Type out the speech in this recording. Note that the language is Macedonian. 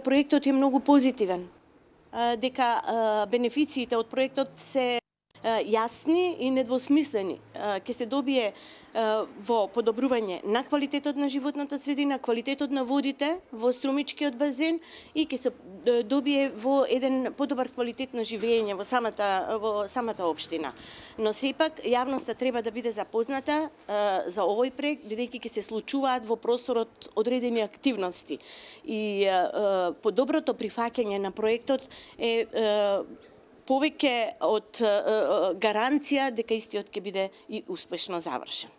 проектот е многу позитивен, дека бенефициите од проектот се јасни и недвосмислени. Ќе се добие во подобрување на квалитетот на животната средина, квалитетот на водите во струмичкиот базен и ќе се добие во еден подобар квалитет на живење во самата општина. Но сепак јавноста треба да биде запозната за овој проект, бидејќи ќе се случуваат во просторот одредени активности и подоброто прифаќање на проектот е повеќе од гаранција дека истиот ќе биде и успешно завршен.